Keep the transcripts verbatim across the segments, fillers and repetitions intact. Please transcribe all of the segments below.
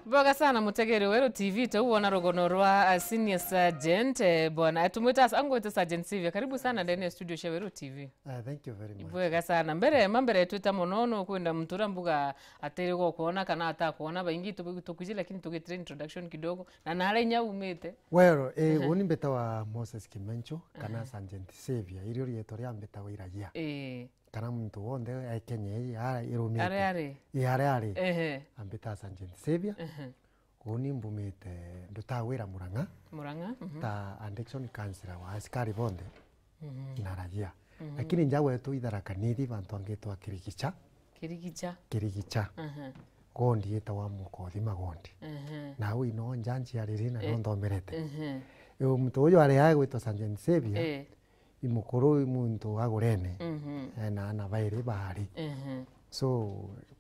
Bwega sana mutegeri wa Weru T V, tau wona rugono rwa, uh, Senior Sergeant, eh, bwana, eh, tumwita as-, angwite Sergeant Sylvia. Karibu sana ndani ya studio cia Weru T V. Ah, thank you very much. Bwega sana. Mbere, ma mbere twita mono, no kwenda muntu uria mbuga atiri gukwona kana atakwona, baingi tu-, tukwiji, lakini tugitire introduction kidogo. Na nare inya umite. Well, eh, Ehe. Uni mbitawa Moses Kimencho, kana Ehe. Sergeant Sylvia, irio rietwa ria mbitawa iragia. Eh. Kana muntu wonthe e Kenya ii, ara irumite. Are are. Ii, are are. Ehe. Ambita Sergeant Sylvia. Ehe. Uni mbumite, ndutaga wira Murang'a. Murang'a, mhm. Ta addiction counselor wa asikari bonthe. Mhm. Na ragia. Mhm. Lakini nja gwetu i Tharaka Nithi, bantu bangi twa Kirigicha. Kirigicha. Kirigicha. Aha. Gondi yitawa Mukothima Gondi. Aha. Na au ino nja njiariri na Eh. no nthomerete. Aha. Riu muntu uyu ari aya gwitwa Sergeant Sylvia, Eh. i mukuru, i muntu agurene. Mhm. Ena ana bairi baari. Aha. So,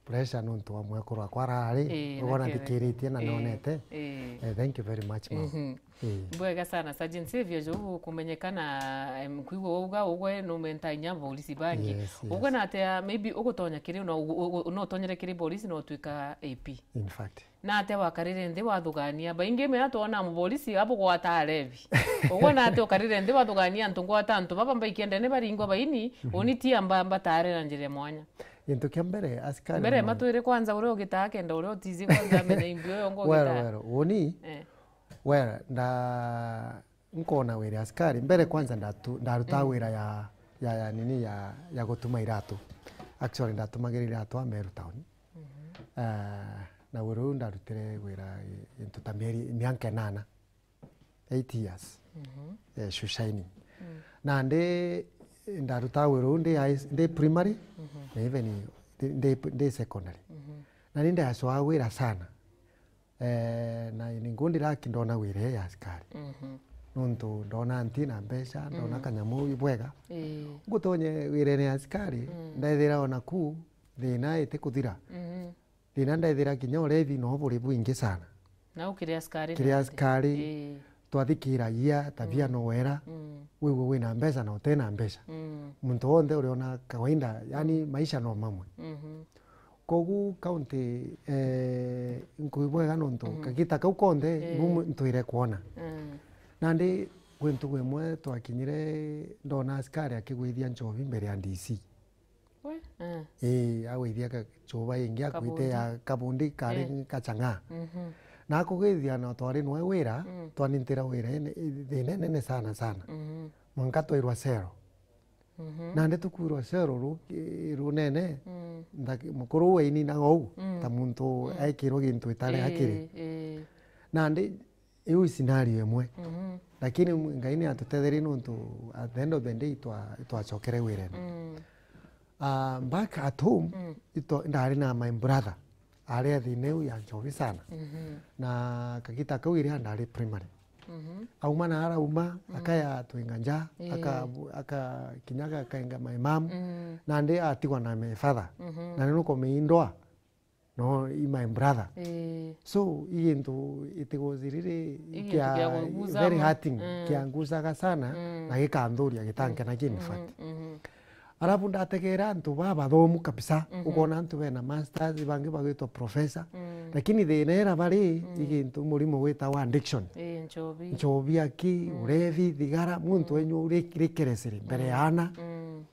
pressure nontu wa mwekuru wakwa arari, Eh, uguo na nake- nathikiritie na Eh. nonete. Eh. Eh, thank you very much, ma'am. Mhm. Ii. Bwega sana, Sergeant Saviour, jo kumenyekana, em, kwigua wauga ugwe numenta inya borisi bangi. Yes, yes. Ugwe na atia, maybe ugutonya kiri, no, u-, u-, u-, no utonyere kiri borisi, no utwika A P. In fact. Na atia wakarire nthi wathugania? Baingi mea twona muborisi abugwata arevi. Ugwe na atia ukarire nthi wathugania antu ngwata antu baba mbaikia ndene baringwa baini, Mhm. uni ti amba mbatare na njira ya mwanya. Gintu kia mbere, asikari Mbere bamwe- matwire kwanza uria ugitaa kenda uria utizi kwanza amenya imbi uyo ngo Wero, ugitaa. Wero, uni? Eh. Wera, nda-, nkona wira asikari. Mbere kwanza ndatu-, ndaruta Mm. wira ya, ya, ya nini, ya, ya gutuma iratu. Actually, ndatumagira iratu a Meru Town. Mhm. Ah, na wira uyu ndarutire wira i-, into ta mieri, mianka inana. Eight years. Mhm. Eh, shoe shining. Mm. Na ndi, ndaruta wira uyu ndi high-, ndi primary, Mhm. na even ndi, ndi, ndi secondary. Mhm. Na ni ndacwaa wira sana. Eh, na ni ngundira aki ndona wira ya asikari. Mhm. Nontu ndona nti na mbeca, ndona Mhm. kanyamu i bwega. Ii. Ngutonye wirene ya asikari, Mm. ndethira ona ku thina iti kuthira. Mhm. Thina ndethira kinya urevi no buri bwingi sana. Na ukiri asikari Kiri na asikari, Ii. twathikiragia tabia Mm. no wera, Mm. wigwe wina mbeca na utena mbeca. Mm. Muntu wonthe uriona kawaida, yani Mm. maisha no mamwe. Mhm. Kogu county, eh, nkui bwega nontu Mm. kagita kau konthe Eh. ibu ntwire kwona. Mm. Nandi gwi ntugu imwe twakinyire, ndona asikari akigwithia nchobi mbere ya D C. We? Eh. Ii, agwithia gachuba ingi akwite Kabundi. ya kabundi kari Eh. gachang'a. Mhm. Na akugwithia na twari nwe wira, Mm. twanintira wira ene, thina nene sana sana. Mhm. Mwanka twairwa cero. Mhm. Nandi tukwirwa cero ru-, runene, Mm. nthaki-, mukuru uu aininaga uu, Mm. ta muntu Mm. ekirwe gintu itari Ii, akiri. ii. Nandi iu i scenario imwe. Mhm. Lakini Ngai ni atutetherie nontu at the end of the day twa-, twacokere wirene. Mm. Ah, back at home, Mm. ito-, ndari na my brother. Ari a thina iu ya nchobi sana. Mhm. Na kagita kau iria ndari primary. Mhm. Auma na arauma, Mm. akaya twinga nja, Ii. aka-, aka-, kinya akainga my mom, Mm. nandi atigwa na my father. Mhm. Na ni nuko meindwa, no, i my brother. Ii. So, i gintu itigociriri I gintu kia kia kuguza very mo. hurting, Mm. kiangucaga sana, Mm. na gikanthuria, gitankena, Mm. in fact. Mhm, mhm. Arabu ndategera antu babathomu kabisa, Mhm. ukona antu bena masters, bangi bagwitwa professor, Mm. lakini thina ira bari, Mm. i gintu murimo gwitawa addiction. Ii, nchobi. Nchobi aki, Mm. urevi, thigara, muntu Mm. wenyu uri-, rikeresiri mbere Mm. ya ana. Mm.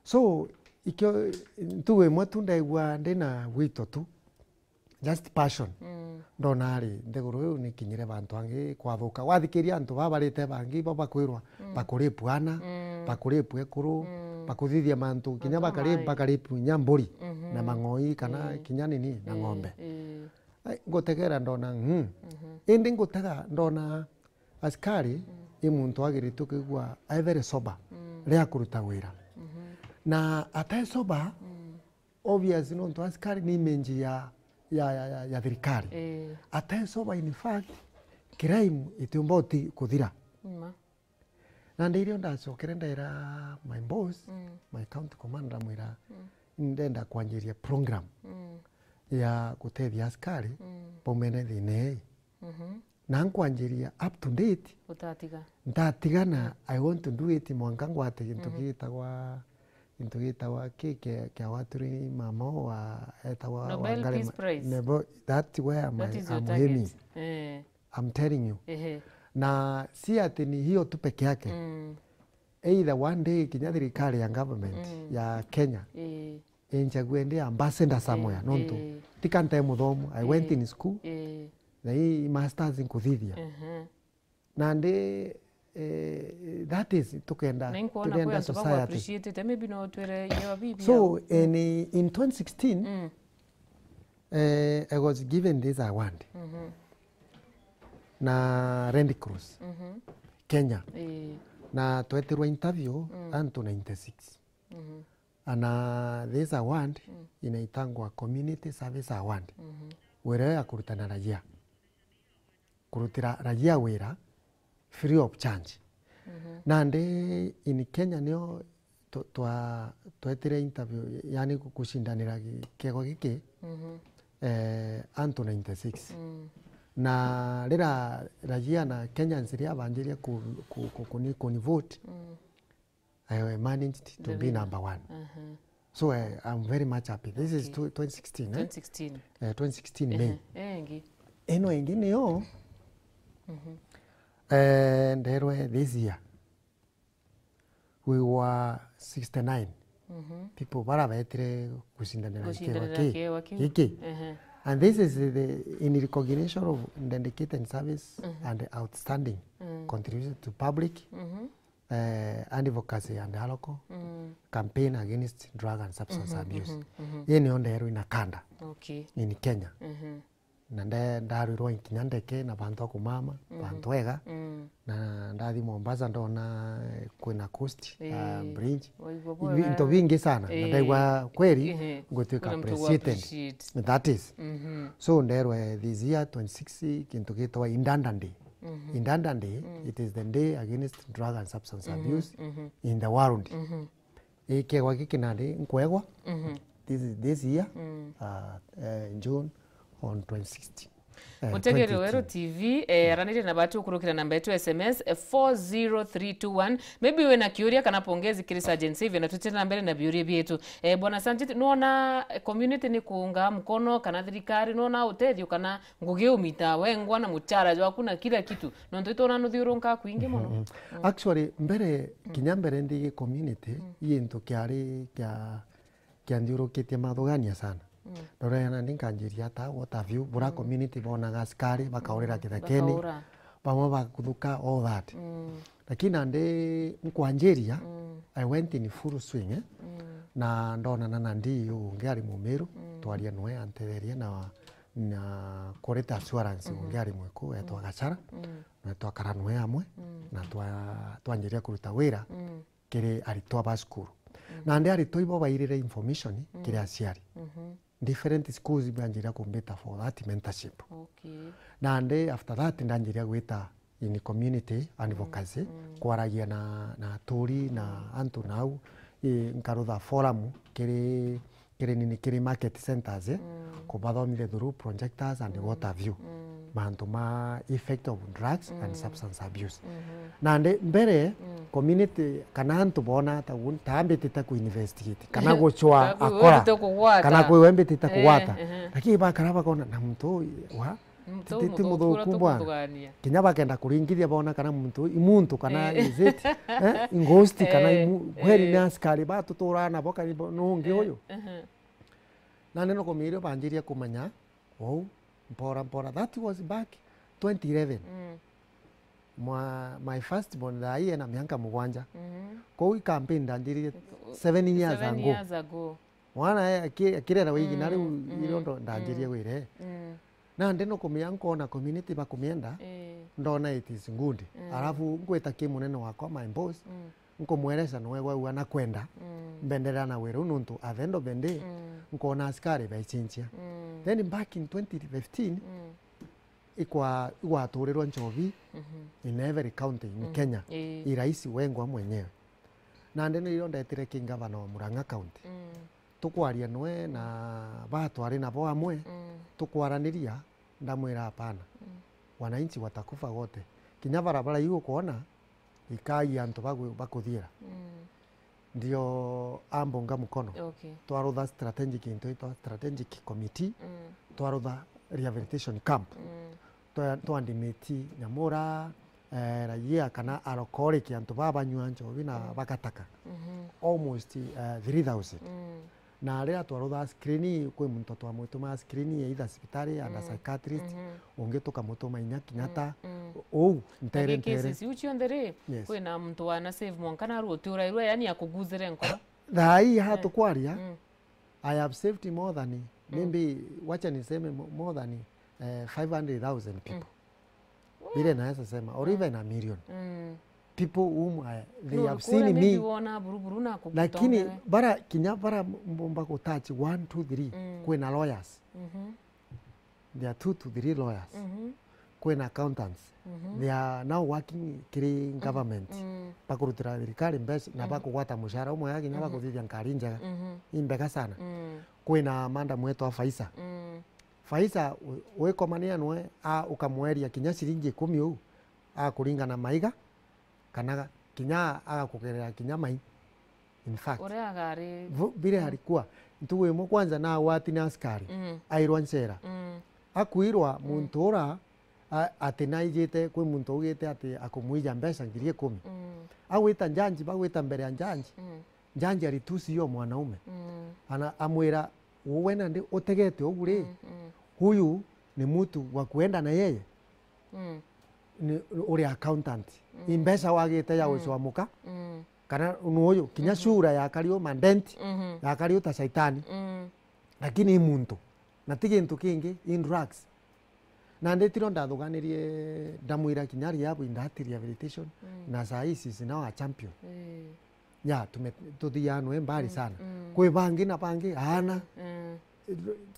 So, ikio, ntugu imwe tu ndaigua ndina gwito tu, just passion. Mm. Ndona ari, nthiguru iu nikinyire bantu angi kwathuka. Wathikiria antu baba barite bangi, bo bakwirwa, Mm. bakuripu ana, Mm. bakuripu ekuru, Mm. bakuthithia mantu, kinya Antu bakari-, amai. bakaripu inya mburi, Mhm. na mang'oi, kana Ii. kinya nini, na Ii, ng'ombe. ii. Ai, ngutegera ndona, mm. Mhm. Indi ngutega ndona asikari, Mm. i muntu agiritwe kwigua e very sober, Mm. riria akuruta wira. Mhm. Na ate sober, Mm. obvious, nontu asikari ni image ya, ya, ya, ya, ya thirikari. Ii. Ate sober, in fact, crime itiumba uti-, kuthira. Ni ma. Na ndi irio ndacokere ndaira my boss, Mm. my county commander, ndamwira, Mm. "Ndenda kwanjiria program Mm. ya gutethia asikari Mm. baumene thina ii." Mhm. Na nkwanjiria up to date, utatiga, ntatiga na I want to do it mwanka ngwate gintu gitagwa, gintu gitagwa ki kia, kia waturi mama wa, etagwa Nobel Wangari Peace Ma- Prize. Nebo, that's where my, That is your I'm target. Aiming. Eh. I'm telling you. Ehe. Na si ati ni hiyo tu peke yake. Mm. Either one day kinya thirikari ya government Mm. ya Kenya Eh. inchague ndi ambassador somewhere, Eh, nontu eh. Ti kanta e muthomu, I went Eh. in school, Eh. na hii masters nkuthithia. Ehe. Nandi, eh, that is, tukenda, Na inkwona tugenda kwi antu society. Baku-appreciate-ite, maybe no twire yo bibi So, yao. In, in twenty sixteen, Mm. eh, I was given this award Mhm. na Red Cross Mhm. Kenya. Eh. Na twetirwa interview Mm. antu ninety-six. Mhm. Ana this award Mm. inaitangwa Community Service Award. Mhm. Wira ya kurutana raia. Kurutira raia wira free of charge. Mhm. Nandi in Kenya nio twa-, twa-, twetire interview, yani ku-, kucindanira gi-, kiego giki, Mhm. eh, antu ninety-six. Mm. Na rira raia na Kenyans ria banjiria ku-, ku-, ku-, kuni-, kuni vote, Mm. I managed to The be winner. Number one. Aha. So, eh, I'm very much happy. This is Okay. tw-, twenty sixteen, eh? Twenty sixteen. Eh, twenty sixteen May. Ehe, eh, ingi. Ino ingi niyo, Mhm. eh, nderwe this year, we were sixty-nine Mhm. people bara betire gucindanira Gucindanira kiewa ki-, kiewa kiu. Giki. Ehe. And this is the, in recognition of dedicated service Mhm. and outstanding Mm. contribution to public Mhm. eh, advocacy and alcohol, Mm. campaign against drug and substance Mhm, abuse. Mhm, mhm. Ii niyo ndeerwe ina kanda Okay. in Kenya. Mhm. Na nde-, ndarwirwa nkinya ndeke na bantu a kumama, Mm. bantu ega. Mm. Na ndathi Mombasa ndona, eh, kwina coast, ah, Eh, bridge. Waigua Ibi-, bwega. Into bingi sana. Na Eh, ndaigua kweri ehe, ngwituika kuna mtu wa appreciated. Appreciate. That is. Mhm. So nderwe this year twenty-six kintu gitwa Indanda Day. Mhm. Indanda Day, Mm. it is the day against drug and substance Mhm, abuse mhm. In the world. Mhm. Ikegwa giki nandi nkwegwa Mhm. this, this year, Mm. uh, uh, June on twenty-sixth. Eh, Mutegeri Weru twenty eighteen. T V, eh, aranire na batu ukurukira namba yetu S M S, eh, four zero three two one. Maybe wina kiuria kana pongezi kiri Sergeant Saviour, na tutire na mbere na biuria bietu. Eh, Bwana Sergeant, nuona, eh, community ni kuunga mkono kana thirikari, nuona utethio kana ngugi umita wengwa na muchara jwaku na kila kitu? Nontu itwona nuthiurunka kwingi muno. Mhm. Mm. Actually, mbere, Mm. kinya mbere ndigi community, Mm. i gintu kiari kia, kianthiurukitie mathugania sana. Mm. Ndorere nandi nkanjiria ata, what have you, bura Mm. community bonaga askari, bakaurira Mm. kithekeni, Bakaura. bamwe bakuthuka, all that. Mm. Lakini nandi nkwanjiria, Mm. I went in full swing, eh? Mm. Na ndonana na D E O ungi ari Mumiru, Mm. twaria nwe antetheria na, na kurita assurance Mm-hmm. ungi ari Mwiku, etwa Mm. Gachara, Mm. na twakara nwe amwe, Mm. na twa-, twanjiria kuruta wira Mm. kiri aritwa ba cukuru. Mm. Nandi aritwa ibo bairire information Mm. kiri aciari. Mm-hmm. Different schools banjira kumbita for that mentorship. Okay. Nandi after that ndanjiria gwita in community advocacy, Mm, mm. kwaragia na, na aturi na Mm. antu nau, i, nkarutha forum kiri, kiri nini, kiri market centers, eh, Mm. kubathomithia through projectors and Mm, what have you. Mm. Mantu ma effect of drugs and Mm. substance abuse. Mm-hmm. Nandi mbere, Mm. community kana antu bona ta gu-, ta ambitite ku investigate, kana gucwa Kana kwi akora, wembite kugwata. Kana kwi wembitite Eh, kugwata. Ehe. Lakini bakara bakona na muntu uyu wa Muntu ti, ti, ti muthuku muthuku bwana. Tumuthugania. Kinya bakenda kuringithia bona kana muntu uyu i muntu kana Eh. is it, eh, i ghost kana i Eh, mu-, kweri eh. ni askari batuturaa nabo kana i bo-, nungi Eh, uyu. Ehe. Nandi no kumiria banjiria kumenya, Ou, mpora mpora. That was back twenty eleven. Mm. Mwa, my first born thaa ii ena mianka mugwanja. Mhm. Kou i campaign ndanjiririe seven years Seven ago. Years ago. Mwana e, aki-, akirera wigi na riu Mm, mm, irio ndo ndanjirie mm. Wire. Mm. Nandi no kumia nkona community bakumienda, Eh. ndona it is good. Mm. Alafu ngwita ki munene wakwa, my boss, Mm. nkumwereca nwe gwaua na kwenda Mm. mbenderera na wira uu, nontu at the end of the day, Mm. nkona askari baichinchia. Mm. Then back in twenty fifteen, Mm. ikwa-, igwaturirwa nchobi Mhm. in every county in Mm. Kenya. Ii. I rais wengwa mwenyewe. Nandi nirio ndetire ki ngavana wa Murang'a County. Mm. Tukwaria nwe na batwari nabo amwe, Mm. tukwaraniria, ndamwira, "Hapana. Mm. wananchi watakufa wote. Kinya barabara iu ukwona, ikai antu bagu-, bakuthiira. Mm. Ndio ambunga mkono. Okay. Twarutha strategic, into itwa strategic committee, mm, twarutha rehabilitation camp. Mm. Twa-, twandimiti Nyamura, eh, raia kana alcoholic, antu baba banyua njobi na, mm, bagataka. Mhm. Almost, eh, three thousand. Mm. Na riria twarutha screen, kwi muntu twamutuma screen either cibitari, under, mm, psychiatrist, mhm, ungi tukamutuma inya Kenyatta. Mm, mm. Uu, ntere, ntere. Lakini cases iu cionthe ri, yes, kwina muntu wana save mwanka na ruti urairwe, yani akuguzire nkoro. Thaa ii, eh, haha tukwaria, mm, I have saved more than, mm, maybe, wacha niseme mo-, more than, eh, five hundred thousand people. Mm. Vile naweza sema, or, mm, even a million, mm, people whom I, they, no, have seen me. Maybe wona buruburu na kugutongera. Lakini bara, kinya bara mbomba gutouch one, two, three, mm, kwina lawyers. Mhm. There are two to three lawyers. Mhm. Kwina accountants. Mhm. They are now working kiri, mm, government. Mm. Bakurutira thirikari mbeca na, mm, bakugwata mushara umwe, kinya, mhm, bakuthithia nkari njega. Mhm. Imbega sana. Mm. Kwina madam wetu wa Faisa. Mm. Faisa, u-, wikomania nwe, a, ukamweria kinya ciringi ikumi uu, akuringana maiga, kana kinya agakugerera kinya mai. In fact, uria agari, vu-, vile, mm, alikuwa, ntugu imwe kwanza na agwati na askari, mm, airwa ncera. Mm. Akuirwa, mm, muntu ura, a, ati naijite kwi muntu ugite ati akumwija mbeca ngiri ikumi. Mm. Agwita njanji, bagwita mbere ya njanji. Mm. Njanji alitusi huyo mwanaume. Mm. Ana-, amwira, "Uwe nandi utegete ugu ri? Mm, mm. Huyu ni mtu wa kuenda na yeye? Mm. Ni uri accountant. Mm. I mbeca wagite ya, mm, gucwamuka? Mm. Kana ni uyu? Kinya, mhm, sura yakari u madent, mhm, yakari u ta shaitani. Mm. Lakini i muntu. Na ti gintu kingi, i drugs." Na nditiro ndathuganirie, ndamwira kinya rehab in that rehabilitation, mm, na saa hii she's now a champion. Eh. Ya, tume-, tuthianwe mbali, mm, sana. Mm. Kwi bangi na bangi, aana, mm,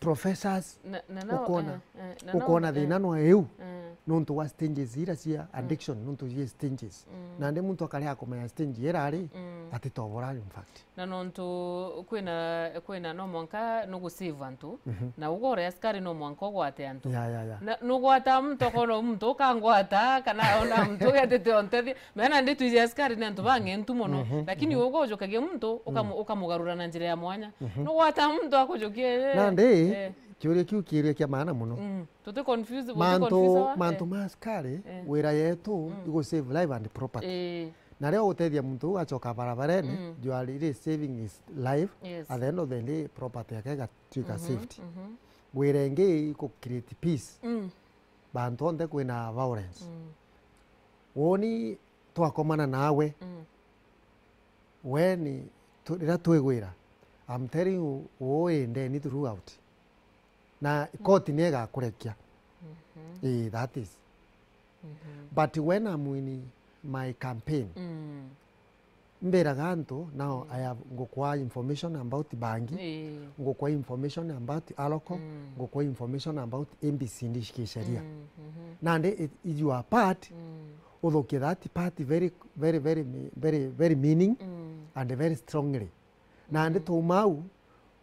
professors, na, na no, ukona, eh, eh, na no, ukona, eh, thina no iu, eh, nontu wa stages ira cia, mm, addiction, nontu cia stages. Mm. Nandi muntu akari akumenya stage ira ari, mm, atitobora, in fact. Na nontu kwina, kwina no mwanka nugu save antu, mhm, na ugo uri askari no mwanka ugwate antu. Ya, ya, ya. Na nugwata muntu, ukona muntu ukangwata, kana ona muntu ugetete ontethia. Mena ndi twiji askari ni antu bang'entu mono, mhm, lakini, mhm, ugo ujukagia muntu, ukamu-, mm, ukamugarura na njira ya mwanya. Mhm. Nugwata muntu akujukia, eh, nandi, eh, kiuria kiu kiuria kia maana mono. Mm. Tuti confused, tuti mantu, confused wa, mantu, eh, ma askari, eh, wira yetu, mm, igu save life and property. Eh. Na riria utethia muntu uu acoka barabarene, mm, you are really saving his life. Yes. At the end of the day, property yake igatuika, mhm, safety. Mhm. Wira ingi iku create peace. Mm. Bantu onthe kwina violence. Mm. Woni twakomana nawe, mm, weni tu-, riria twigwira, I'm telling you, uu i ndeni throughout. Na, mm, koti ni igakurekia. Mhm. Ii, that is. Mhm. But when I'm in my campaign, mm, mbiraga antu, now, mm, I have, ngukwa information about bangi, ii, ngukwa information about alcohol, mm, ngukwa information about A B C D cia sheria. Mm, mhm. Nandi it, it your part, mm, uthukie that part very, very, very, very, very meaning, mm, and very strongly. Nandi, mm, twauma au,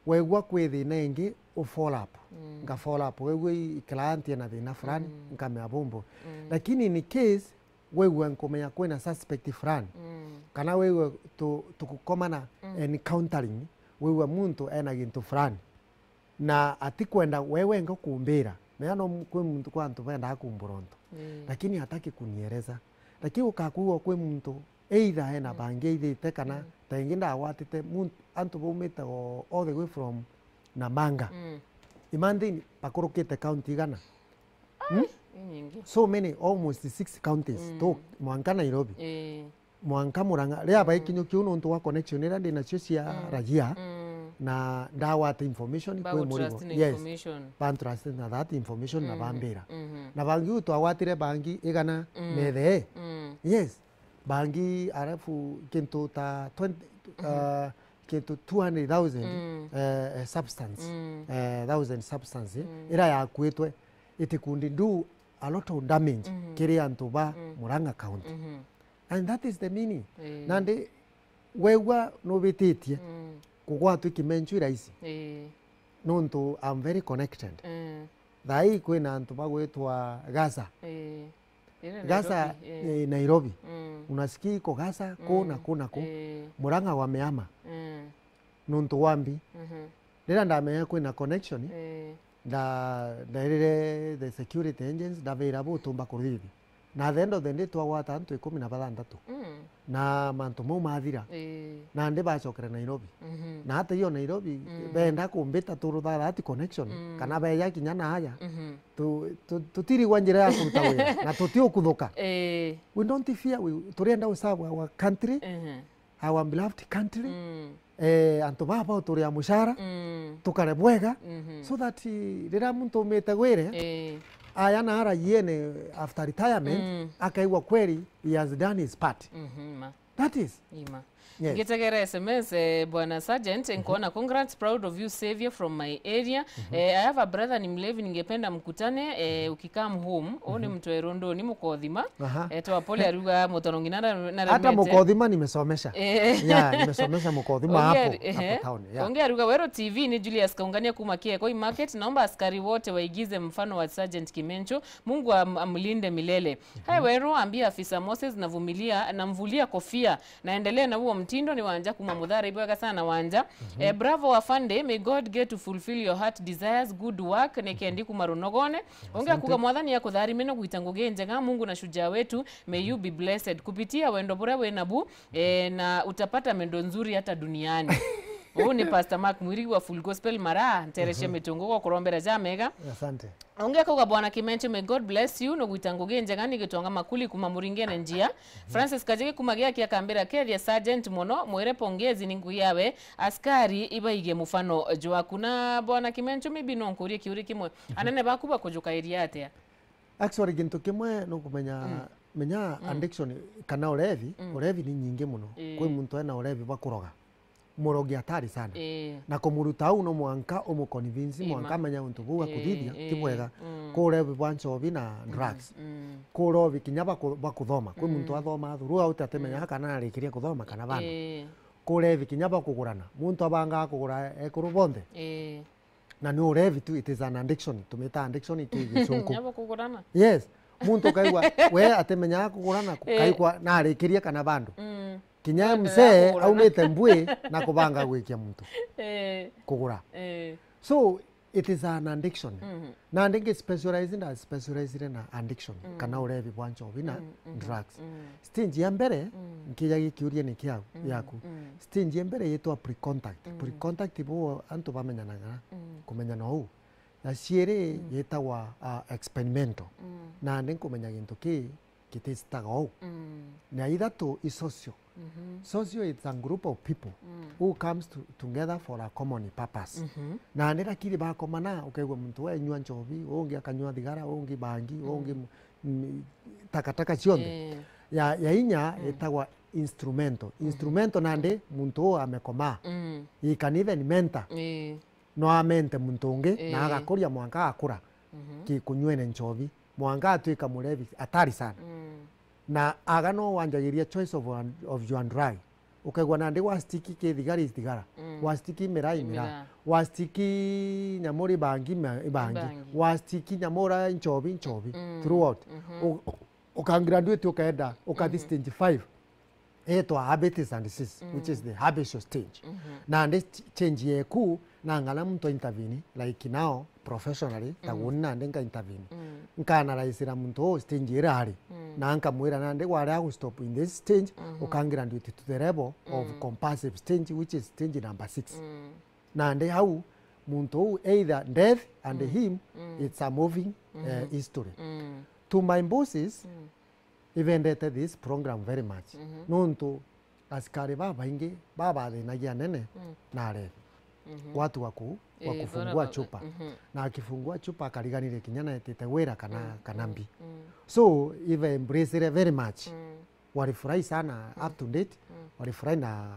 wegua kwi thina ingi, u follow up. Mm. Nga follow up. Wegua i client ena thina fulani, mm, nkamea bumbu. Mm. Lakini in case wegua nkumenya kwina suspect fulani, mm, kana wegua tu-, tukukomana, mm, encountering, wegua muntu ena gintu fulani, na atikwenda we wenga kumbira. Menya no mu-, kwi muntu, kwa antu bendaa kumbura untu. Mm. Lakini hataki kunieleza. Lakini ukakwigua kwi muntu either ena, mm, bangi aithite kana, mm, ta ingi ndagwatite muntu, antu baumite o-, all the way from Namanga. Mm. Imagine bakurukite county igana. Hmm? Ai, inyingi. So many, almost six counties, mm, tu mwanka Nairobi. Ii. Mwanka Murang'a. Riria, mm, baikinyukia u nontu wa connection iria ndi nacio cia, mm, raia, mm, na ndagwata information kwi murigo. Yes. Information. Bantrust na that information na, mm, bambira. Mhm. Na bangi u twagwatire bangi igana, mm, na ithee. Mm. Yes. Bangi, alafu kintu ta twenty, mhm, uh, kintu two hundred thousand, mm, eh, eh, substance, mm, eh, thousand substance, mm, iria yakuitwe, it could do a lot of damage, mhm, kiri antu ba, mm, Murang'a County. Mhm. And that is the meaning. Ii. Nandi wegua nubititie, mm, kugwatwa ikimenchu i rahisi. Ii. Nontu I'm very connected. Mm. Thaa ii kwina antu bagwitwa Gaza. Eh, iri Gaza, Nairobi, eh. Eh, Nairobi. Mm. Unasikia iko Gaza, ku na Mm. ku na ku. Eh. Murang'a wameama. Mm. Nuntu wa mbi. Mhm. Riria ndamenya kwina connection, Eh. nda-, ndairire the security agents, ndabira butumba kurithithia. Na at the end of the day, twagwata antu ikumi na bathanthatu. Mm. Na mantu mau mathira. Ii. Nandi bacokere Nairobi. Mhm. Na hata iyo Nairobi, Mm. benda kumbita turu that connection, Mm. kana beja kinya na aja. Mhm. Tu-, tu-, tutirigwa njira ya kuruta wira, na tutiukuthuka. Ii. We don't fear, we, turienda u serve our country, Mhm. our beloved country. Mm. Eh, antu baba uturia mushara, Mm. tukare bwega, Mhm. so that, eh, riria muntu umite gwire, Eh. aya na ara yene after retirement, Mm. akaigua kweli he has done his part. Mhm, ma. That is. Ima. Yes. Ngitegera S M S, eh, Bwana Sergeant, Mhm. nkuona, "Congrats, proud of you, savior from my area." Mhm. Eh, "I have a brother ni mlevi, ningependa mkutane, eh, ukikam home." Uu ni Mhm. mtu erunduni mukothima. Aha. Eh, twa pole aruga mutono ngina na, na Hata remete. Mukothima nimesomesha. Eh. Yeah, nimesomesha Mukothima Ongea hapo, ari-, ehe. hapo town, yeah. Ongea aruga, "Weru T V ni Julius Kaungania kuma Kiekoi Market. Naomba askari wote waigize mfano wa Sergeant Kimencho. Mungu am-, amlinde milele." Hai Weru, ambia afisa Moses navumilia, namvulia kofia. Naendelee na huo mtindo, ni Wanja kuma Muthara, ibwega sana Wanja. Mhm. Eh, bravo Afande, may God get to fulfill your heart desires, good work, ni Kendi kuma Runogone. Ongea Asante. Kuga, "Mwathani akutharimene gwita ngugi njega, Mungu na shujaa wetu, may you be blessed. Kupitia wendo buria wina bu, eh, na utapata mendo nzuri hata duniani." Uu ni Pastor Mark Mwirigi wa Full Gospel Mara, nterecia Mhm. mitungu gwa kurombera jamega. Asante. Ungi akauga, "Bwana Kimencho, may God bless you, nugwita ngugi njega, ni Gitonga Makuli kuma Muringene njia." Mhm. Francis Kajigi kuma Giaki akambira, "Kethia Sergeant mono, mwire pongezi ni ngugi yawe, askari ibaige mufano jwaku." Na Bwana Kimencho, maybe no nkurie kiuri kimwe. Mhm. Anene baku bakujukairia atia? Actually, gintu kimwe nukumenya, Mm. menya Mm. addiction kana urevi, Mm. urevi ni nyingi muno. Ii. Kwi muntu ena urevi bwa kuroga. Murogi hatari sana. Ii. Na kumuruta au no mwanka umuconvince, Ima. mwanka amenye untu buu Ii, akuthithia, ti ii. bwega. Mm. Kwi urevi bwa nchobi na Mm, drugs. mm. Kwi urevi kinya bwa ku-, bwa kuthoma. Kwi muntu Mm. athoma throughout atimenya Mm. kana arikirie kuthoma kana bado. Ii. Kwi urevi kinya bwa kugurana. Muntu abangaa kugura ekuru bonthe. Ii. Na ni urevi tu, it is an addiction. Tumita addiction tu gicunku. Kinya bwa kugurana. Yes. Muntu ukaigua, we atimenyaga kugurana, Eh. kaigua narikirie kana bado. Mm. Kinya Bado msee ya kugurana. aumite mbui na kubanga gwikia muntu. Eh. Kugura. Eh. So, it is an addiction. Mhm. Na ndingi specialize, nda specialize na addiction, Mm. kana urevi bwa nchobi na Mm, mhm, drugs. mm. Stage ya mbere, Mm. nkija gikiuria ni kiau, Mm, yaku. mm. Stage ya mbere yitwa pre-contact. Mm. Pre-contact bo antu bamenyanaga, Mm. kumenyana uu. Ya ciiri Mm. yitagwa, ah, experimental. Mm. Nandi nkumenya gintu ki kititaga uu. Mm. Na ithatu i social. Mhm. Social is a group of people Mm. who comes to, together for a common purpose. Mhm. Nandi lakini bakomana, ukaigua muntu we anyua nchobi, ungi akanyua thigara, ungi bangi, Mm. ungi m-, m-, takataka cionthe. Eh. Ya, ya inya Mm. itagwa instrumental. Mhm. Instrumental nandi muntu uu amekomaa. Mm. He can even mentor. Eh. No amente muntu ungi, na Ii. agakuria mwanka agakura Mhm. ki kunyuene nchobi. Mwanka atwika murevi hatari sana. Mm. Na aga no wanjagiria choice of, of your drug. Ukaigua nandi gwa stick ki thigara i thigara. Mm. Gwa stick i miraa i miraa. Miraa. Gwa stick i nyamu ri bangi ma-, i bangi. Bangi. Gwa stick i nyamu ra nchobi, nchobi. Mm. Throughout. Mhm. U-, uka graduate ukaenda, ukathi Mhm. stage five. Etwa habits and disease, which is Mm. the habitual stage. Mhm. Nandi ch-, change yeku, na ng'ana muntu a intervene, like now, professionally, ta Mm. guni nandi nka intervene. Mm. Nka analyze ra muntu uu stage ira ari. Mm. Na nkamwira nandi wari agu stop in this stage, Mhm. uka graduate to the level of Mm. compulsive stage, which is stage number six. Mm. Nandi au, muntu uu, either death and Mm. him, Mm. it's a moving, eh, Mhm. history. Mm. To my bosses, Mm. Ibendete this program very much. Mhm. Nontu asikari babaingi babathinagia anene Mm. na arevi. Mhm. Watu wa ku-, wa Eh, kufungua bora ba-, chupa. Mhm. Na akifungua chupa akariganire kinya na etite wira kana, Mm, kana mm, mbi. Mm. So, ibe embrace very much. Mm. Walifurahi sana Mm. up to date. Mm. Walifurahi na,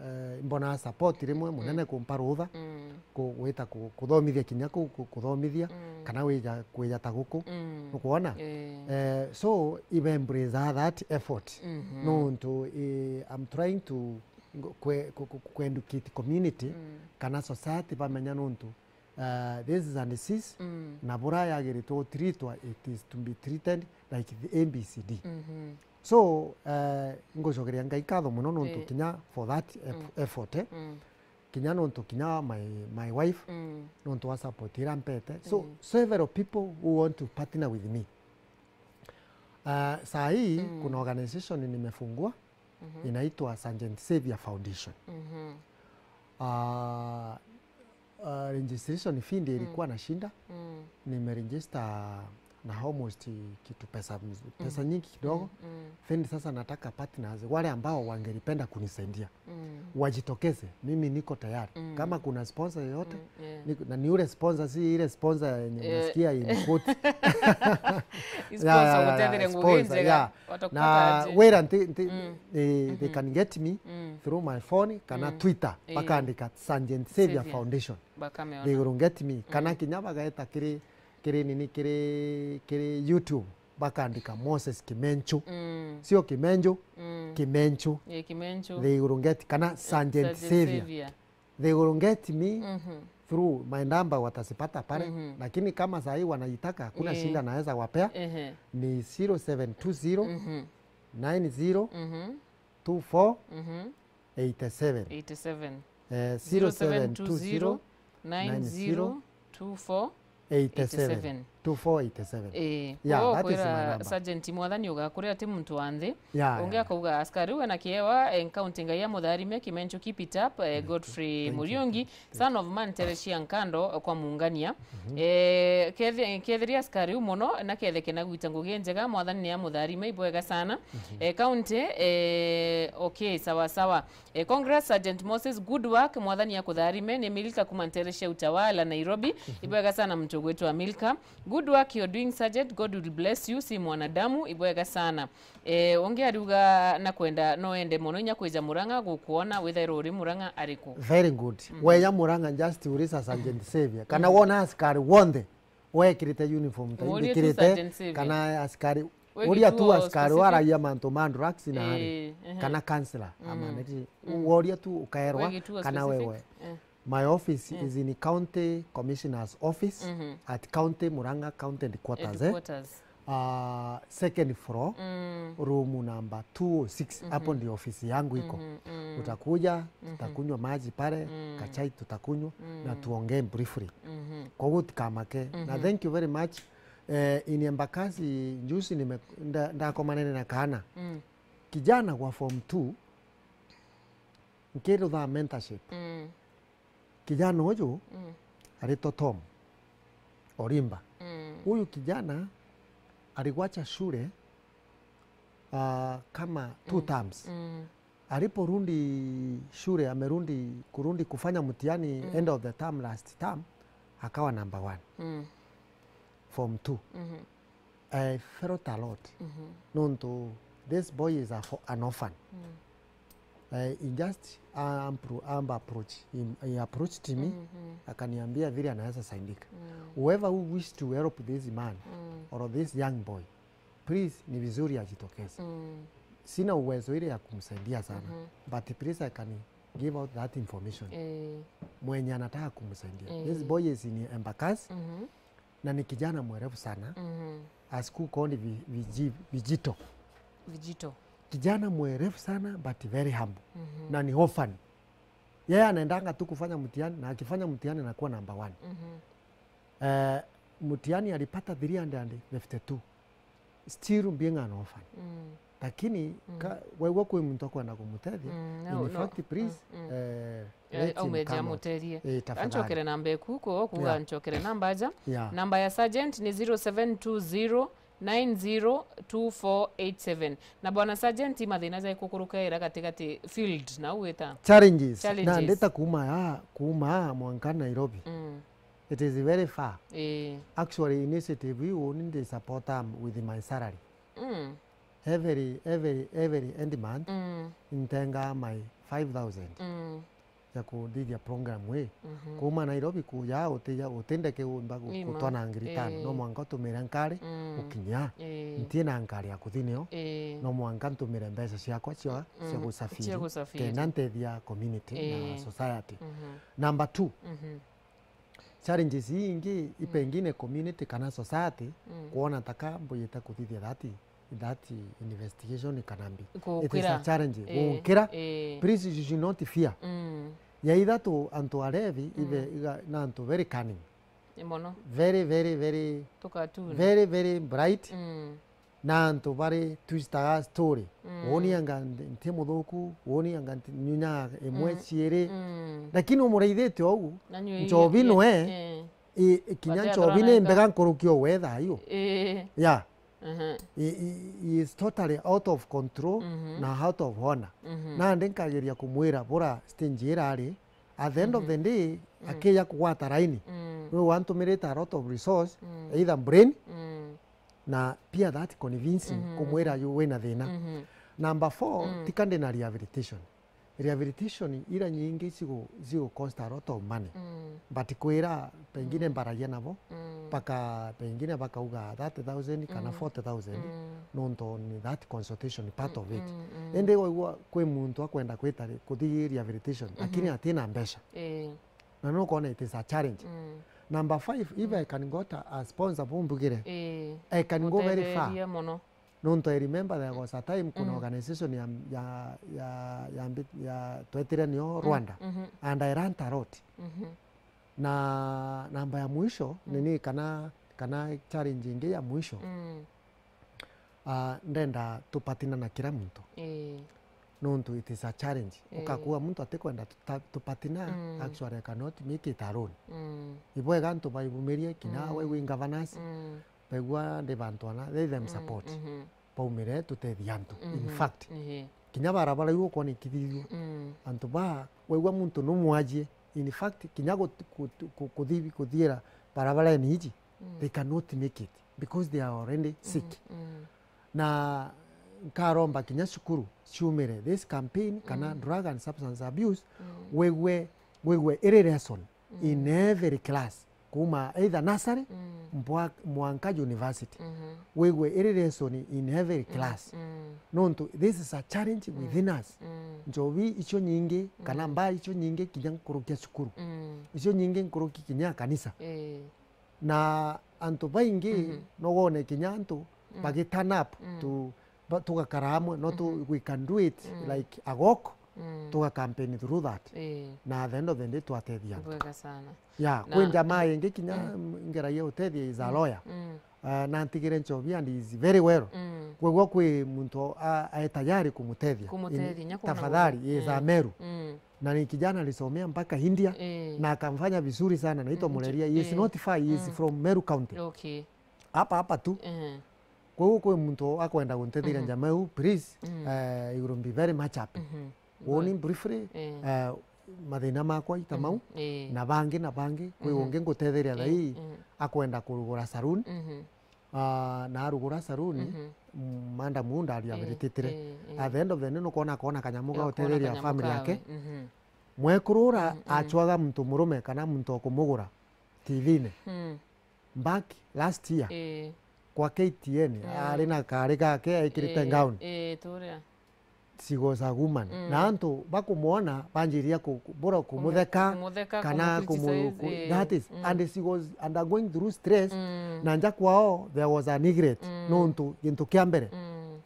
eh, mbona support rimwe munene Mm. kumpa rutha. Mm. ku-, gwita ku-, kuthomithia kinya kuu ku-, kuthomithia, Mm. kana wija, kwija ta guku. Mm. Nukwona? Eh. Eh, so, ibe embrace that effort. Mhm. Nontu, eh, I'm trying to ngo-, kwe-, ku-, ku-, ku educate community, Mm. kana society bamenya nontu Uh, this is a disease, mm, na bura yagiritwe gutreatwa, it is to be treated like the A B C D. Mhm. So, uh, ngucokeria Ngai nkatho mono nontu, eh, kinya for that eff-, mm, effort, eh. Mm. Kinya nontu kinya my, my wife, mm, nontu wa support ira mpete. So, mm, several people who want to partner with me. Uh, saa hii, mm, kuna organization nimefungua, mhm, inaitwa Sergeant Savior Foundation. Mhm. Uh, uh, registration fee ndio ilikuwa, mm, nashinda. Mm. Nimeregister na almost kitu pesa mz-, pesa, mm, nyingi kidogo. Mm, mm. Then sasa nataka partners, wale ambao wangelipenda kunisaidia. Mm. Wajitokeze, mimi niko tayari. Mm. Kama kuna sponsor yoyote, mm, yeah, niko, na ni ule sponsor, si ile sponsor yenye, eh, unasikia in quote. Hii sponsor, yeah, yeah, yeah, gutetheria ngugi sponsor, njega, yeah. Watakupata na aje? Wira nti, nti, mm, eh, they, mhm, can get me, mm, through my phone kana, mm, Twitter, eh, bakaandika Sergeant Savior, Savior Foundation. Bakameona. They will get me. Kana, mm, kinya bagaeta kiri, kiri nini, kiri, kiri YouTube, bakaandika Moses Kimenchu. Mm. Sio Kimenju, mm, Kimenchu. Eh, Kimenchu. They will get, kana, eh, Sergeant, Sergeant Savior. Savior. They will get me, mhm, through my number, watasipata pale. Mhm. Lakini kama saa hii wanaitaka, hakuna, eh, shida, naweza wapea. Ehe. Ni zero seven two zero, mhm, nine zero, mhm, two four, mhm, eight seven. Eight seven. Eh, zero seven two zero, nine zero, two four, eight seven. Eight seven. Two four eight seven. Eh, yeah, that is my number. Sergeant, Mwathani ugakuria ati muntu wa nthi. Yeah, yeah. Ungi akauga, askari we na kiewa, eh, nkaunti Ngai amutharime, Kimenchu, keep it up, eh, Godfrey Muriungi, thank you, thank you, son of man Teresia Nkando, kwa Muungania. Mhm. Eh, kethi-, kethiria askari u mono, na ketheke na gwita ngugi njega, Mwathani ni amutharime, ibwega sana. Mhm. Eh, kaunti, eh, okay, sawa sawa. Eh, congrats, Sergeant Moses, good work, Mwathani akutharime. Ni Milka kuma Nteresia Utawala, Nairobi. Mhm. Ibwega sana muntu ugwitwa Milka. Good work you're doing, Sergeant. God will bless you. Si mwanadamu, ibwega sana. Eh, ungi ariuga na kwenda no ende mono inya kwija Murang'a gukuona, withairwo uri Murang'a ariku? Very good. Mhm. Weya Murang'a, just uliza Sergeant Savior. Kana, mhm, wona askari wonthe wekirite uniform ta murie tu imbikirite, Sergeant Savior, kana askari, wegi uria tu tu wa askari specific, waragia mantu ma drugs na hari, eh, ehe, kana counselor, mm, ama neti, mm, woria tu ukaerwa, wegi tu wa kana specific, wewe. Eh. My office, mm, is in County Commissioner's office, mhm, at County Murang'a County Headquarters, eh. Headquarters. Ah, second floor, mm, room number two oh six, mhm, hapo ndio ofisi yangu iko. Mhm, mm. Utakuja, mhm, tutakunywa maji pale, mm, kachai tutakunywa, mm, na tuongee briefly. Mhm. Kwa hivyo tukamake. Na, mhm, thank you very much. Eh, in Embakasi, juzi nime-, nda-, ndakomanene na kaana. Mm. Kijana wa form two, nkirutha mentorship. Mm. Kijana uyu, mm, aritwa Tom Orimba. Mm. Huyu kijana aligwacha shule, ah, kama two, mm, terms. Mm. Aliporudi shule, amerudi, kurudi kufanya mtihani, mm, end of the term, last term, akawa number one. Mm. Form two. Mhm. I felt a lot. Mhm. Nontu this boy is a fo-, an orphan. Mm. Eh, he just, uh, ampro-, amba approach. He, he approached me, mhm, akaniambia vile anaweza saidika. Mm. Whoever who wish to help this man, mm, or this young boy, please, ni vizuri ajitokeze. Mm. Sina uwezo ile ya kumsaidia sana, mhm, but please, I can give out that information. Eh. Mwenye anataka kumsaidia. Eh. This boy is in Embakasi, mhm, na ni kijana mwerevu sana. Mhm. A school called Vi-, Viji-, Vijito. Vijito. Kijana mwerevu sana, but very humble. Mhm. Na ni orphan. Yeye anaendanga tu kufanya mtihani, na akifanya mtihani anakuwa number one. Mhm. Eh, mtihani alipata three hundred fifty-two. Still being an orphan. Mm. Lakini, mm, ka-, waigua kwi muntu akwenda kumutethia, mm, no, in fact, please, mm, mm, eh, eh, let him aume come out. Amuterie. Eh, tafadhali. Anchokere namba eku, ko kuga, yeah, anchokere namba aja. Yeah. Namba ya Sergeant ni zero seven two zero nine zero two four eight seven. Na bwana Sergeant, mathina ja ikukuruka ira gatigati field, na ugwita? Challenges. Challenges. Na ndita kuma ya, kuma mwanka Nairobi. Mm. It is very far. Eh. Actually, initiative iu ni ndi support am with my salary. Mm. Every, every, every end month, mm, ntenga my five thousand, mm, ya kuthithia program ii. Mhm. Kuma Nairobi kuja utija, utindeke umba gu-, ima, gutwana ngiri tano. Eh. No mwanka utumire nkari, mm, ukinya. Eh. Ntie na nkari ya kuthi nio. Eh. No mwanka ntumire mbeca ciakwa cia, mm, cia gusafiri, cia gusafiri, kenda ntethia community, eh, na society. Mhm. Number two, mhm, challenges ii ingi, i pengine community kana society, mm, kwona taka mbuyite kuthithia that, that investigation kana mbi. It is a challenge. Ii, gunkira. Ii. Please, you should not fear. Mm. Ya ithatu, antu arevi, mm, ithe iga, na antu very cunning. Ni mono. Very, very, very, tukatuni, very, very bright. Mm. Na antu bari twitaga story. Mm. Woni anga nti, nti muthuku, woni anga nti, nyunyaga imwe, mm, ciiri. Mm. Lakini umuraithitie uu, na nyui nchobi ii, nwe, ii, i, i, kinya nchobi ni mbega nkuruki o we thayu. Ii. Yeah. Mhm. He, he, he is totally out of control, mhm, na out of order. Mhm. Nandi nkageria kumwira bura stage ira ari, at the end of, mhm, the day, mm, akija kugwata raini. Mm. Nwe wantumirite a lot of resource, mm, either brain, mm, na pia that convincing, mhm, kumwira yu wina thina. Mhm. Number four, mm, tika ndi na rehabilitation. Rehabilitation ira nyingi cigu-, cigu cost a lot of money. Mm. But kwira pengine, mm, mbaragia nabo, mm, baka-, pengine bakauga thirty thousand kana, mm, forty thousand, mm, nontu ni that consultation part, mm, of it. Mm, mm. Indi waigua kwi muntu akwenda kwita ri-, kuthi rehabilitation, mhm, lakini atina mbeca. Ii. Na nukona it is a challenge. Mm. Number five, if, mm, I can got a, a sponsor bumbugire, ii, I can go very far. Mutetherie mono. Nontu I remember there was a time kuna, mm, organization ya, ya, ya, ya, mbi-, ya twetire nio, mm, Rwanda, mhm, and I learnt a lot. Mhm. Na namba ya mwisho, mm, nini kana, kana challenge ingi ya mwisho, mm, ah, ndenda tupatina na kila muntu. Ii. Nontu it is a challenge. Ii. Ukakua muntu atikwenda tuta-, tupatina, mm, actually I cannot make it alone. Mm. Ibwega antu baibumirie, kinya, mm, we wi governors, mm, baigua ndi bantu ana, let them, mm, support. Mhm. Baumire tutethie antu. In, mhm, fact, ehe, kinya barabara iu ukwona ikithithua, mm, antu ba, waigua muntu numwajie. In fact, kinya gut-, gut-, ku-, kuthi-, kuthiira barabarene iji, mm, they cannot make it because they are already sick. Mm, mm. Na nkaromba kinya cukuru ciumire this campaign kana, mm, drug and substance abuse, mm, wigwe, wigwe iri lesson, mm, in every class, kuma either nursery, mm, mbwa-, mwanka university. Mhm. Wigwe iri lesson in every, mm, class. Mm. Nontu this is a challenge, mm, within us. Mm. Nchobi icio nyingi, kana, mm, mbaa icio nyingi kinya nkuruki ya cukuru. Mm. Icio nyingi nkuruki kinya ya kanisa. Ii. Na antu baingi, mhm, no wone kinya antu, mm, bagi turn up, mm, tu-, ba-, tugakara amwe, no tu-, mhm, we can do it, mm, like a walk, mm, tuga campaign through that. Ii. Na at the end of the day twatethia antu. Bwega sana. Yeah, na kwi njamaa ingi kinya, mm, ngeragia utethia is a, mm, lawyer. Mm. Uh, na ntigire nchobi and is very well. Mm. Kwegua kwi muntu a-, ae tayari kumutethia. Kumutethia, in-, nya kuna tafadhali, muntu, is a, mm, Meru. Mm. Na ni kijana alisomea mpaka India, eh, na akamfanya vizuri sana, anaitwa, mm, Mureria. He is, eh, not far, he is, mm, from Meru County. Okay. Hapa hapa tu. Eh. Kwa hiyo kwi muntu akwenda guntetheria, mhm, njamaa uu, please, mm, eh, you will be very much happy. Mhm. Woni, good, briefly, eh, eh, mathina makwa ita mau, mhm, eh, na bangi na bangi, kwi, mhm, ungi ngutetheria, eh, thaa ii, eh, akwenda kurugura saloon. Mhm. Ah, na arugura saloon, mhm, mm, madam uu ndari, eh, abiritetire. Eh, eh. At the end of the day, nukwona akona kanyamu ga, akona gutetheria kanyamu family kawe, yake. Mhm. Mwekuru ura, mm, mm, acwaga muntu murume kana muntu okumugura T V-ini. Mm. Back last year, eh, kwa K T N, mm, ari na kari gake ekirite, eh, gown. Eh, turia. She was a woman. Mm. Na antu bakumwona banjiria ku-, ku-, bura kumutheka, kumutheka, kana kumu-, kumu-, criticize, ku-, eh, that is, mm, and she was undergoing through stress, mm, na nja kwao there was a neglect, mm, nontu gintu kia mbere, mm,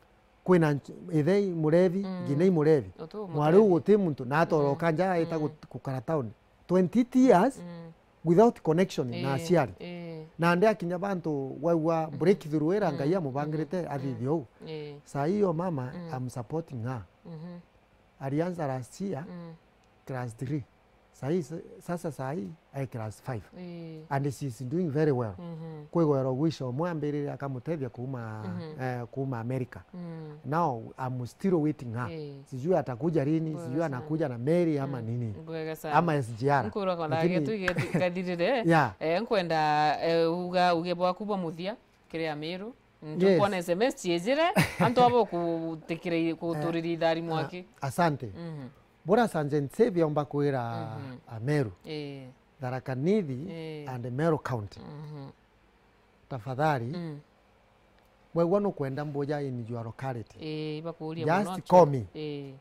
kwina nch-, ithe i murevi, mm, ngina i murevi. Utu mwari u mutethi. Guti muntu, na atoroka, mm, nja aita, mm, gut-, gukara town. Twenty years, mm, without connection na, eh, aciari. Eh. Na ndi akinya bantu waigua, mhm, breakthrough ira Ngai, mm, amubangirite, mm, athithie uu. Eh. Saa hii iyo mama, mm, I'm supporting her. Mhm. Alianza last year, mm, class three. Saa hii sa-, sasa saa hii ai class five. Eh. And she's doing very well. Mhm. Kwigwera ugwisha umwe ambirire akamutethia kuuma, mhm, eh, kuuma America. Mm. Now, I'm still waiting her. Eh. Sijui atakuja lini, sijui anakuja na meli ama, mm, nini. Bwega sana. Ama S G R. Nkurwa kwa ndage tu ige tu kathirire. Yeah. Eh, nkwenda, eh, uga, uge bwaku bwa muthia kiri Amiru. Yes. Ntukwona S M S ciejire, antu abo kutikira, kuturiria ithari mwaki. Eh, a-, asante. Mhm. Bura Sergeant Savior omba kwira, mhm, Ameru. Eh. Tharaka Nithi, eh, and Meru County. Mhm. Tafadhali, mm, wegua nukwenda mbuja in your locality, eh, ibakuria muno, just call me. Eh.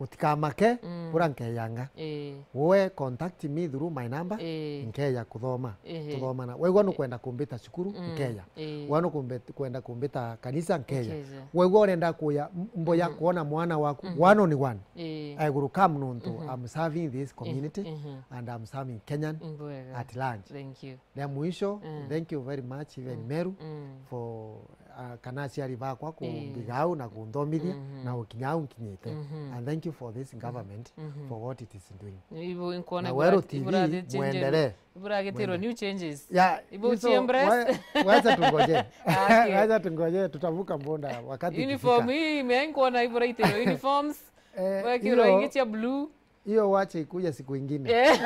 Utikamake, mm, bura nkeyanga. Ii. We contact me through my number, ii, nkeya kuthoma. Ehe. Tuthomana. Wegwa nukwenda kumbita cukuru, mm, nkeya. Ii. Wegwa nukwenda kumbita kanisa, nkeya. Nkeya. Wegwa urenda kuya m-, mbo ya, mhm, kuona mwana waku, mhm, one on one. Ii. I will come nontu, mhm, I'm serving this community, mhm, and I'm serving Kenyan, mm, bwega, at large. Thank you. Ria mwisho, mm, thank you very much, even, mm, Meru, mm, for, uh, kana aciari bakwa, ii, kumbigau na kunthomithia, mhm, na gukinya au nkinyite. Mhm. And thank you for this government, mhm, for what it is doing. Ibu nkwona. Na ibura-, Weru T V, iburathi changes, mwendelee. Iburagitirwo, mwendelee, new changes. Yeah, ibu so, chi embrace. Wa-, wacha tungoje. Okay. Wacha tungoje, tutavuka mbonda wakati ukifika. Uniform hii, mimi nkwona iburagitirwo uniforms. Eh, wekirwo hiyo ingi cia blue. Hiyo wache ikuja siku ingine. Eh.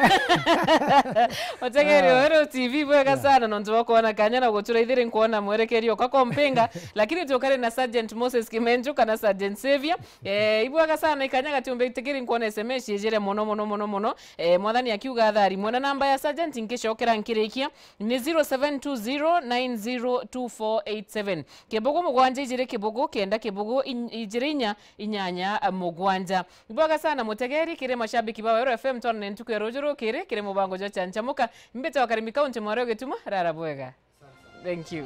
Mutegeri, ah, Weru T V, bwega, yeah, sana nontu bwa kwona kanya na guturaithiri nkwona mwerekerio kwa kompinga, lakini tukari na Sergeant Moses Kimenju kana Sergeant Savior. Eh, ibwega sana ikanya gatiumbe itikiri nkwona S M S ijire mono, mono, mono, mono. Eh, mwathani akiuga athari. Mwena namba ya Sergeant nkicokera nkirikia ni zero seven two zero nine zero two four eight seven. Kibugu mugwanja ijiri kibugu kenda kibugu in-, ijiri inya inyanya mugwanja. Ibwega sana mutegeri kiri mashabiki ba Weru F M, twanane ntuku ya ruju rukiri kiri mubango jwa Chanchamuka. Mbite wa Karimi County, mwari wa Gituma, rara bwega. Thank you.